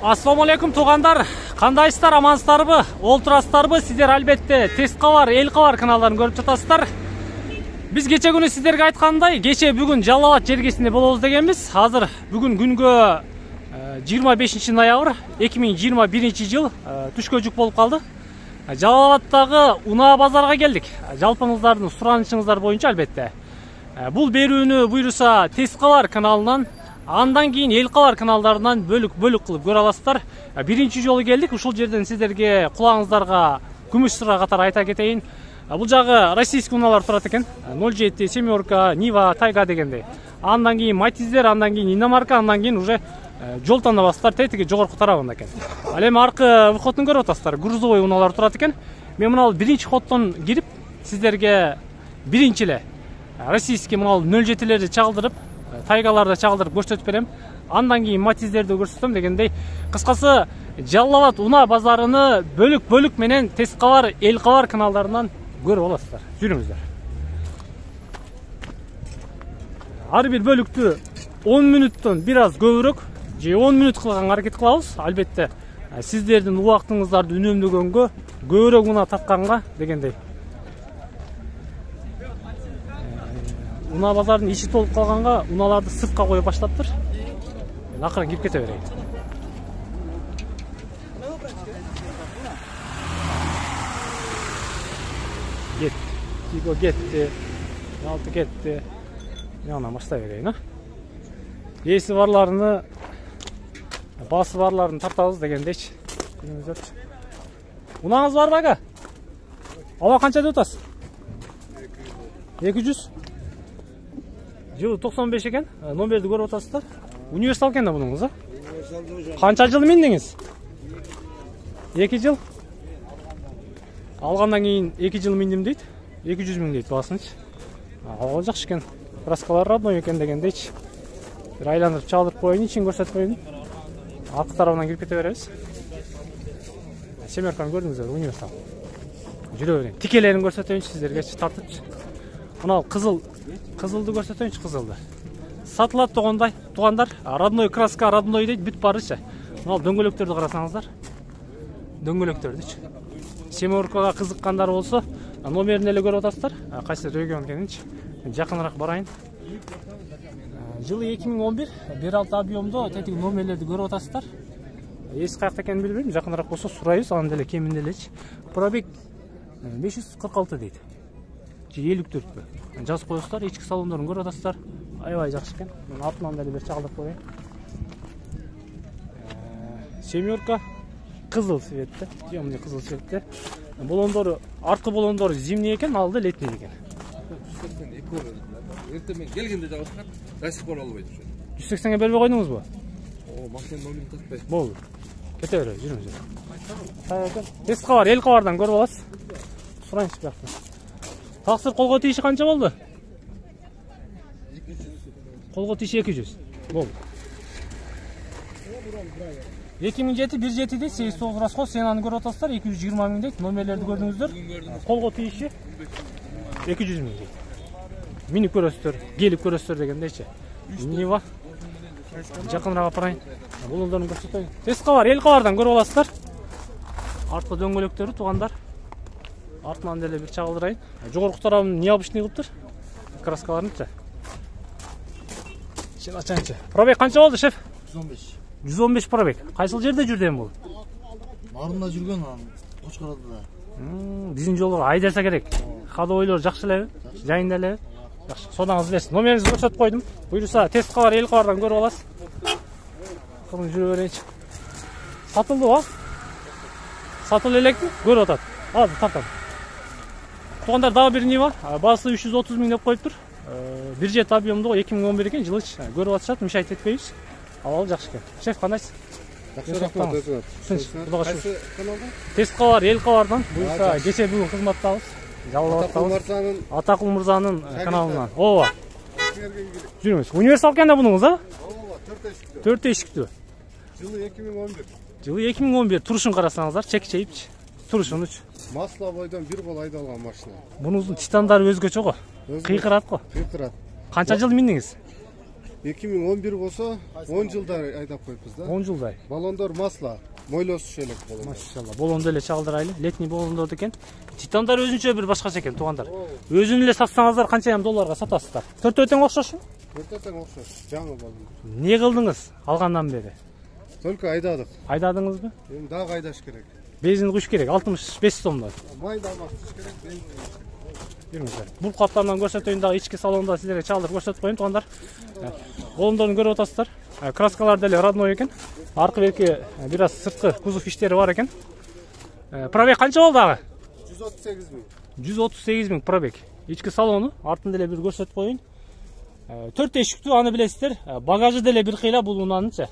Ассаламу алейкум туугандар, кандайсыздар, амансыздарбы? Олтурасыздарбы? Сиздер албетте Тест кабар, Эл кабар каналдарын көрүп жатасыздар. Биз кече күнү сиздерге айткандай, кече бүгүн Жалал Абад жергесинде болобуз дегенбиз. Азыр бүгүн күнгө 25 ноябрь 2021 жыл түшкө жүк болуп калды. Жалал Абадтагы унаа базарга келдик. Жалпыңыздардын суранышыңыздар боюнча албетте. Бул берүүнү буйруса Тест кабар каналынан, андан кийин Эл кабар каналдарынан бөлүк кылып көрө аласыздар. Биринчи жолу келдик. Ушул жерден сиздерге кулагыңыздарга күмүш сыра катары айта кетейин. Бул жагы российский унаалар турат экен. 07, семерка, Нива, Тайга дегендей. Андан кийин Матиздер, андан кийин Иномарка, андан кийин уже жол тандабастар тетиги жогорку тарабында экен. Ал эми аркы выходун көрүп атасыздар. Грузовой унаалар турат экен. Мен мына биринчи ходдон кирип сиздерге биринчи эле российский мына 07лерди чагылдырып, Тайгаларды чагылдырып көрсөтүп берем. Андан кийин Матиздерди көрсөтөм дегендей. Кыскасы Жалал Абад унаа базарыны бөлүк менен Тест кабар, Эл кабар каналдарынан көрүп аласыздар. Жүрүңүздөр. Ар бир бөлүктү 10 мүнөттөн бир аз көбүрөөк же 10 мүнөт кылганга аракет кылабыз. Албетте сиздердин убактыңыздарды үнөмдөгөнгө, көбүрөөк унаа тартканга дегендей. Унаа базардын ичи толуп калганга унааларды сыртка коюп баштаптыр. Акырын кирип кете берейин. Тиго кетти, алты кетти. Мына баштай берейин, Эси барларыны, басы барларын тартабыз дегендейчи. Унааңыз барбы ага? Ала канча деп атасыз? 200. Жылы 95 экен. Номерди көрүп атасыздар. Универсал экен да бунуңуз, Канча жыл миндиңиз? 2 жыл. Алгандан кийин 2 жыл миндим дейт. 200 миң дейт басынчы. Ал жакшы экен. Краскалар родной экен дегендейчи. Бир айландырып чалдырып коеюн, ичин көрсөтүп коеюн. Аркы тарабынан кирип кете беребиз. Семерканы көрдүңүздөр, универсал. Жүрө берейин. Тикелерин көрсөтөйүнчү сиздерге тартыпчы. Мына кызылды көрсөтөйүнчү, кызылды. Сатылат туугандар, родной краска, родной дейт, бүт барычы. Мына дөңгөлөктөрдү карасаңыздар. Дөңгөлөктөрдүчү. Семеркага кызыккандар болсо, номерин эле көрүп атасыздар. Кайсы регион экенинчи. Жакыныраак барайын. Жылы 2011, 1.6 объемдо тетиги номерлерди көрүп атасыздар. Эси каякта экенин билбейм, жакыныраак болсо сурайбыз, анан деле кеминде элечи. Пробег 546 дейт. Же 54пү. Жазып коесуздар, ички салондорун көрүп атасыздар. Аябай жакшы экен. Мен артынан деле бир чагылдырып коеюн. Семерка кызыл цветте, темный кызыл цветте. Болондору, аркы болондору зимний экен, алды летний экен. 182 эртең мен келгенде жабышкан, до сих пор албайт ошо. 180ге бербей койдуңузбу? Машина номерин таппай. Болду. Кете беребиз, жүрүңүздөр. Тест кабар, Эл кабардан көрүп аласыз. Сурайынчы бияктан. Таксыр колго тийиши канча болду? 200. Колго тийиши 200. Болду. 2007 17 дейт, 89 расход, сен аны көрүп атасыздар, 220 миң дейт. Номерлерди көрдүңүздөр. Колго тийиши 200 миң дейт. Минип көрөсүздөр, келип көрөсүздөр дегендейчи. Нива. Жакыныраак апарайын. Болондорун көрсөтөйүн. Тест кабар, Эл кабардан көрүп аласыздар. Арткы дөңгөлөктөрү туугандар. Артынан деле бир чагылдырайын. Жогорку тарабын необычный кылыптыр. Краскаларынчы. Сен ачаңчы. Пробег канча болду, шеф? 115. 115 пробег. Кайсыл жерде жүрдү эми бул? Нарында жүргөн анан Кочкородо. Биздин жолго айдаса керек. Ходовойлор жакшы элеби? Жайында элеби? Жакшы. Содаңыз билесиз. Номеринизди көрсөтүп койдум. Буйруса Тест кабар, Эл кабардан көрүп аласыз. Кырын жүрө берейинчи. Сатылдыбы? Сатылып элекпи? Көрүп атат. Азыр тартам. Туугандар, дагы бир Нива. Баасы 330 миң деп коюптур. 1.7 объемдо 2011 экен, жылыч. Көрүп атышат, мишайт этпейбиз. Ал жакшы экен. Шеф, кандайсыз? Жакшы рахмат, өзүңөр. Кайсы каналдан? Тест кабар, Эл кабардан. Буюрса кече бүгүн кызматтабыз. Жалал Абадтабыз. Атакул мырзанын каналынан. Ооба. Жүрүңүз. Универсал экен да бунуңуз, Ооба, 4 эшиктүү. 4 эшиктүү. Жылы 2011. Жылы 2011. Турушун карасаңыздар, чек-чейипчи. Турушунучу. Масло бойдон бир кол айдалган машина. Бунуңуздун титандары өзгөчө го. Кыйкырат го. Кыйкырат. Канча жыл миндиңиз? 2011 болсо 10 жылда айдап коюппуз да. 10 жылдай. Баллондор масло, мойлосуш элек болот. Машалла. Болондо эле чагылдырайлы. Летний болондор экен. Титандар өзүнчө бир башкача экен, туугандар. Өзүн эле сатсаңыздар канча долларга сатасыздар? Төртөө тең окшошпу? Төртөө тең окшош. Жаңы болду. Не кылдыңыз алгандан бери? Только айдадык. Айдадыңызбы? Эми дагы айдаш керек. Бензин куш керек, 65 сомдон. Майда алмактыш керек, бензин. Жүрүңүздөр. Бул каптардан көрсөтөйүн дагы ички салонда силерге чалдырып көрсөтүп коеюн туугандар. Болондорун көрүп атасыздар. Краскалар деле родной экен. Аркы берки бир аз сырткы кузов иштери бар экен. Пробег канча болду ага? 138 000. 138 000 пробег. Ички салону артын деле бир көрсөтүп коеюн. 4 эшиктүү, аны билесиздер. Багажы деле бир кыйла бул унаанычы.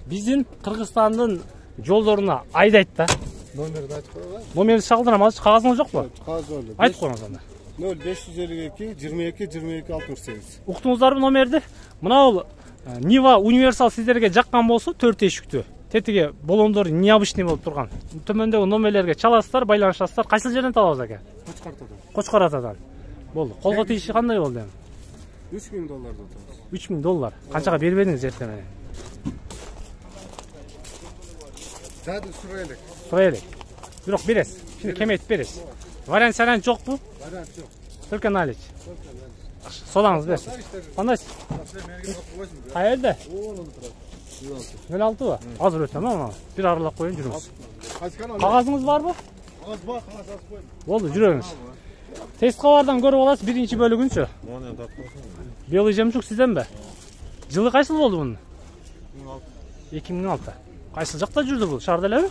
Биздин Кыргызстандын жолдоруна айдайт да. Номерди айтып коебу? Номерди чалдырам, азыр кагазыңыз жокпу? Кагаз бар. Айтып коюңуз анда. 0552 22 22 68. Уктуңуздарбы номерди? Мына бул Нива универсал сиздерге жаккан болсо 4 эшиктүү. Тетиги болондор необычный болуп турган. Төмөндөгү номерлерге чаласыздар, байланышасыздар. Кайсы жерден табабыз ака? Кочкартадан. Кочкаратадан. Болду. Колго тийиши кандай болду эми? $3000 атабыз. $3000. Канчага бербедиңиз эртең менен? Дады сурайлык. Сурайлык. Бирок бересиз. Şimdi кемейтип бересиз. Вариант жокпу? Вариант жок. Только налич. Содаңыз берсин. Кандайсыз? Кайерде? 06 ба? Азыр өтөм ана. Бир аралап коеюн жүрүңүз. Кагазыңыз барбы? Кагаз бар, кагаз жазып коем. Болду, жүрөңүз. Тест кабардан көрүп аласыз биринчи бөлүгүнчү. Белый жемчуг сизденби? Жылы кайсыл болду мунун? 2006. Кайсыл жакта жүрдү бул? Шаарда элеби?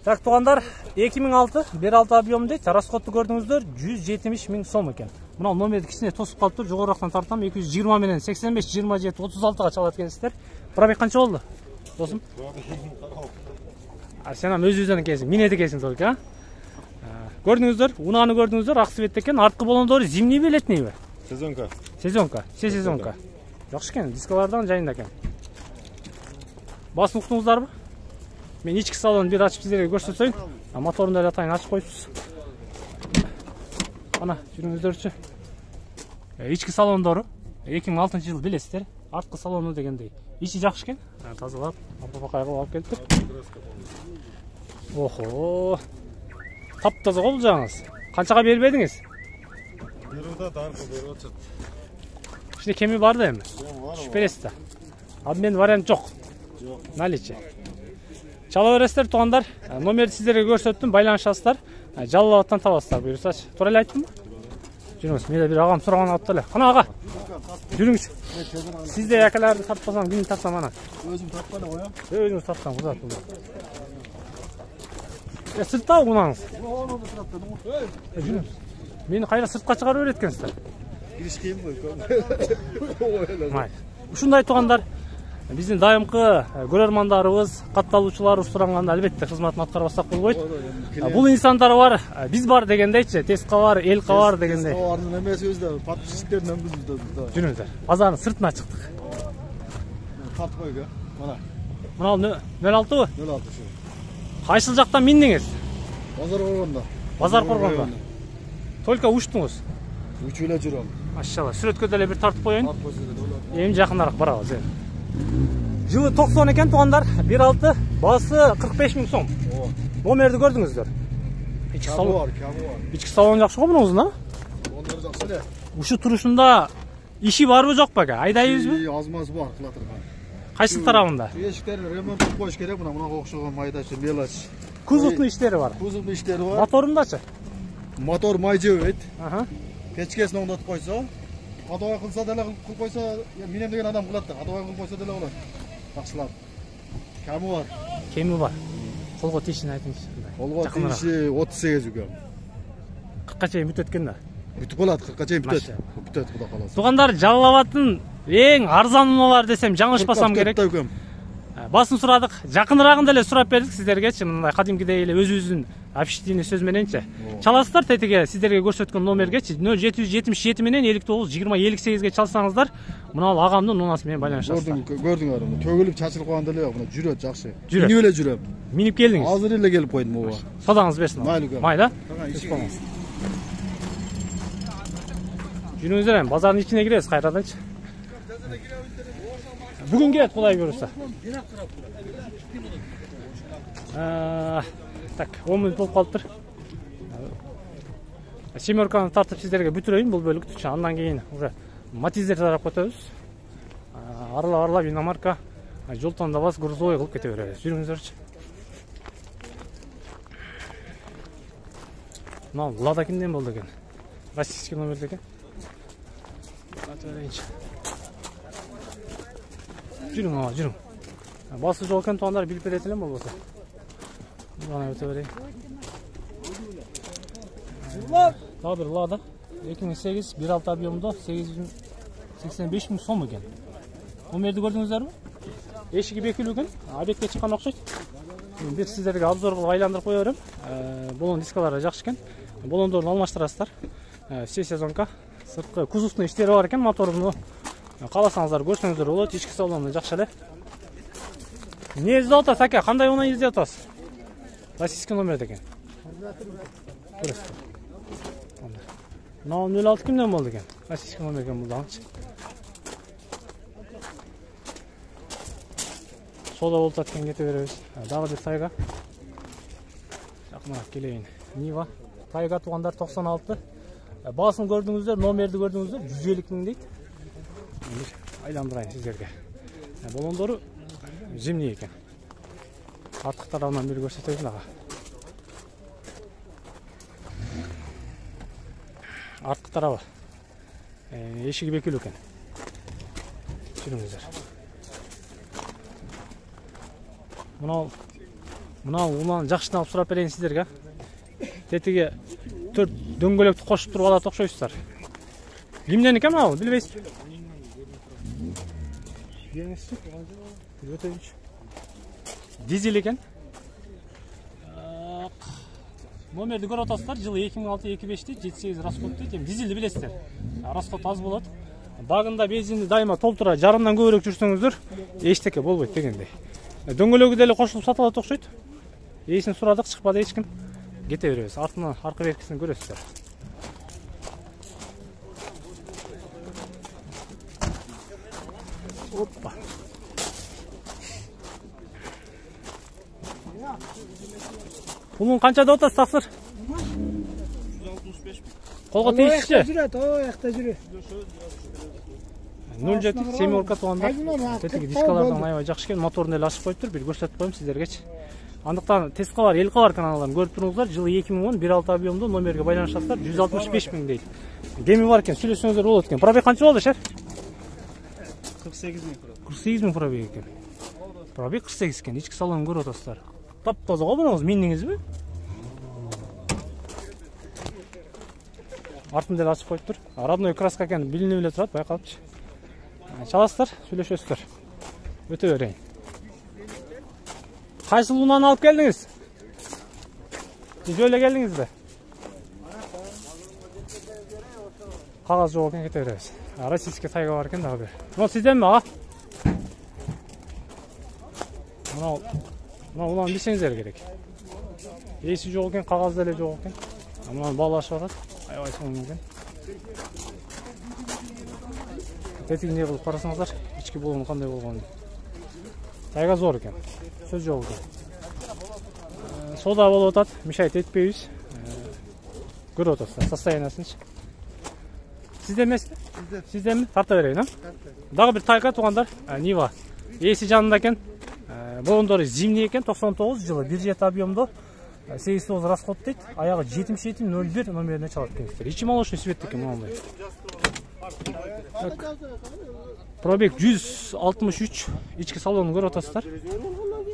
Так, туугандар, 2006 1.6 объем дейт. Расходту көрдүңүздөр, 170 000 сом экен. Мына номерди кичине тосуп калыптыр. Жогорурактан тартам, 220 менен 85 27 36 чалат экенсиздер. Пробег канча болду? Досум. Сен өзүңүздөн экенсиң, минети экенсиң только, а? Көрдүңүздөр, унааны көрдүңүздөр, ак цвет экен. Арткы болондору зимнийби, летнийби? Сезонка. Сезонка, все сезонка. Жакшы экен, дискалардан жайында экен. Басын уктуңуздарбы? Мен ички салонун бир ачып сиздерге көрсөтөйүн. Моторун деле атайын ачып коюпсуз. Ана, жүрүңүздөрчү. Ички салондору 2006-жылы билесиздер. Арткы салону дегендей. Ичи жакшы экен. Тазалап, апа-кайга алып келиптир. Охо. Таптаза го бул жагыңыз. Канчага бербедиңиз? Берүүда даркы берип атат. Иште кеми бар да эми. Түшүп бересиз да. Обмен вариант жок. Жок. Наличие. Чала бересиздер туугандар. Номерди сиздерге көрсөттүм, байланышасыздар. Жалал абадтан табасыздар, буюрсачы. Туура эле айттымбы? Жүрүңүз. Менде бир агам сураган атты эле. Кана ага. Жүрүңүз. Сизде акаларды тартпасам, кимди тартсам ана? Өзүм тартпады коем. Өзүңүз тартсам, кызат бул. Сыртта унаңыз. Жүрүңүз. Мени кайра сыртка чыгарып берет экенсиздер. Кириш кийин бой. Май. Ушундай туугандар, биздин дайымкы көрөрмандарыбыз, катталуучуларыбыз суранганда албетте кызматын аткарбасак болбойт. Бул инсандар бар, биз бар дегендейчи, теска бар, эл кабар дегендей. Теска бардын эмеси өзү подписчиктердин өңгүзүбүз да. Жүрүңүздөр. Базардын сыртына чыктык. Тартып койго. Мана. Мына 06бы? 06. Кайсыл жактан миндиңиз? Базар болгондо. Базар коргондо. Только учтуңуз. Учуп эле жүрөм. Машалла, сүрөткө деле бир тартып коеюн. Тартып койсо. Эми жакыныраак барабыз. Жылы 90 экен туугандар, 1.6, баасы 45 000 сом. Номерди көрдүңүздөр. Ички салон. Ички салон жакшы го мунун узуна? Ондор жакшы эле. Ушу турушунда иши барбы жокпу ака? Айдайбызбы? Аз-маз бар кылатырган. Кайсы тарабында? Эшиктерди ремонттоп коюш керек, мына окшогон майдачы, мелочь. Кузовдун иштери бар. Кузовдун иштери бар. Моторундачы? Мотор май жебейт. Аха. Печкесин оңдотуп койсо, кадабай кылса деле кылып койсо, менен деген адам кылат да, кадабай кылып койсо деле болот. Жакшылап. Кеми бар. Кеми бар. Колго тийишин айтыңызчы. Колго тийиши 38 үгөм. 40ка чейин бүтөт экен да. Бүтүп калат, 40ка чейин бүтөт. Бүтөт, Кудай кааласа. Туугандар, Жалал Абадтын эң арзан унаалар десем жаңылышпасам керек. Басын сурадык, жакыныраагын деле сурап бердик сиздергечи, мындай кадимкидей эле өзүбүздүн общительный сөз мененчи. Чаласыздар тетиге сиздерге көрсөткөн номергечи 0777 менен 59 20 58ге чалсаңыздар, мына агамдын унасы менен байланышасыздар. Көрдүңөр, төгүлүп чачылып калган деле жок, мына жүрөт жакшы. Жүрөт. Минип эле жүрөм. Минип келдиңиз. Азыр эле келип койдум буга. Содаңыз берсин. Майлы. Майла? Жүрүңүздөр эми базардын ичине киребиз кайраданчы. Бүгүн келет Кудай буйруса. Так, 10 мүнөт болуп калыптыр. Семерканы тартып сиздерге бүтүрөйүн бул бөлүктү. Андан кийин уже Матиздер тарапка өтөбүз. Аралап иномарка, жолтон да бас грузовой кылып кете беребиз. Жүрүңүздөрчү. Мына Лада кимден болду экен? Российский номерде экен. Жүрүң. Басы жол экен, туугандар билип берет элем болбосо. Мына өтө берейин. Дагы бир Лада 2008 1.6 объемдо 885 000 сом экен. Номерди көрдүңүздөрбү? Эшиги бекилүү экен, объектке чыккан окшойт. Бир сиздерге обзор кылып айландырып кое берем. Болон дискалары жакшы экен. Болондорун алмаштырасыздар. Все сезонка. Сырткы кузовный иштери бар экен, моторуну кааласаңыздар көрсөңүздөр болот. Ички салону жакшы эле. Эмне издеп атасыз ака? Кандай унаа издеп атасыз? Российский номерде экен. Мына 06 кимден болду экен? Российский номер экен бул дагычы. Сода болуп аткан кете беребиз. Дагы бир Тайга. Жакыныраак келейин. Нива. Тайга туугандар 96. Баасын көрдүңүздөр, номерди көрдүңүздөр, 150 000 дейт. Айландырайын сиздерге. Болондору зимний экен. Арткы тарабынан бир көрсөтөйүн дагы. Арткы тарабы. Эшиги бекилүү экен. Жүрүңүздөр. Мына унан жакшыдан алып сурап берейин сиздерге. Тетиги 4 дөңгөлөктү кошуп туруп алат окшойсуздар. Кимден экен мына? Билбейсизби? Дизель экен. Номерди көрүп атасыздар. Жылы 2006-2005 78 расход дейт. Дизелди билесиздер. Расход аз болот. Багында бензинди дайыма толтура, жарымдан көбүрөөк жүрсөңүздөр эчтеке болбойт дегендей. Дөңгөлөгү деле кошулуп сатылат окшойт. Эсин сурадык, чыкпады эч ким. Кете беребиз. Артынан аркы беркисин көрөсүздөр. Оппа. Пулун канча деп атасыз, таксыр? 165 000. Колго тийишчи? Оякта жүрөт. 07 семерка туугандар. Тетиги дискалардан аябай жакшы экен. Моторун эле ачып коюптур. Бир көрсөтүп коем сиздергечи. Андыктан Теска бар, Элка бар каналдарын көрүп туруңуздар. Жылы 2010 1.6 объемдо номерге байланышасыздар. 165 000 дейт. Кеми бар экен, сүйлөшсөңүздөр болот экен. Пробег канча болду, шер? 48 000 пробег. 48 000 пробег экен. Пробег 48 экен. Ички салонун көрүп атасыздар. Таптаза го буну миндиңизби? Артын деле ачып коюптур. Родной краска экен, билинип эле турат, байкалыпчы. Чаласыздар, сүйлөшөсүздөр. Өтө берейин. Кайсыл унааны алып келдиңиз? Жөө эле келдиңизби? Кагаз жок экен, кете беребиз. Российский Тайга бар экен дагы бир. Мына сизденби, ага? Мына унааны билсеңиздер керек. Эси жок экен, кагаз деле жок экен. Мунаны баалашып атат. Аябай соң экен. Тетигине кылып карасаңыздар, ички болуну кандай болгонун. Тайга зор экен. Сөз жок экен. Сода болуп атат, мешайт этпейбиз. Көрүп атасыздар состояниясынчы. Сизден эмеспи? Сизденби? Тарта берейин, а? Дагы бир Тайга туугандар, Нива. Эси жанында экен. Болондору зимний экен, 99 жылы 1.7 объемдо 89 расход дейт. Аягы 7701 номерине чалат экенсиздер. Ичи молочный свет экен мындай. Пробег 163. Ички салонун көрүп атасыздар.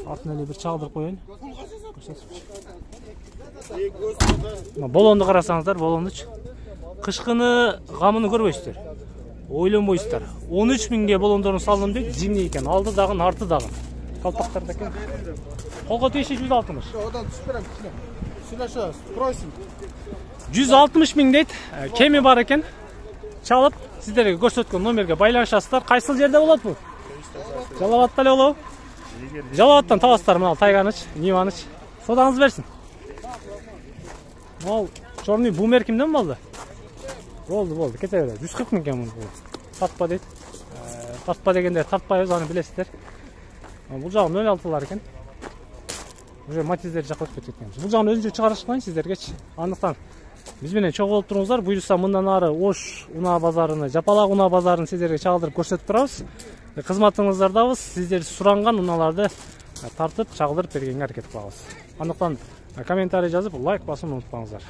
Артына эле бир чагылдырып коеюн. Болонду карасаңыздар, болондучу. Кышкыны гамыны көрбөйсүздөр. Ойлонбойсуздар. 13 000ге болондорун салдым дейт, зимний экен. Алды дагы, арты дагы. Калпактарда экен. Колго тийиши 160. Одан түшүп берем. Сүйлөшөбүз. Просим. 160 000 дейт. Кеми бар экен. Чалып, сиздерге көрсөткөн номерге байланышасыздар. Кайсыл жерде болот бул? Жалалабадта эле болобу? Жалалабадтан табасыздар мына Тайганыч, Ниваныч. Содаңыз берсин. Ал черный бумер кимден болду? Болду, кете берет. 140 миң экен бул. Тартпа дейт. Тартпа дегенде тартпайбыз, аны билесиздер. Бул жагы 06-лар экен. Уже матиздер жакылып кеткен. Бул жагын өзүнчө чыгарышкан сиздергечи. Андыктан биз менен чогуу болуп туруңуздар. Буюрса мындан ары Ош унаа базарыны, Жапалак унаа базарын сиздерге чагылдырып көрсөтүп турабыз. Кызматыңыздардабыз. Сиздер суранган унааларды тартып чагылдырып бергенге аракет кылабыз. Андыктан комментарий жазып, лайк басууну унутпаңыздар.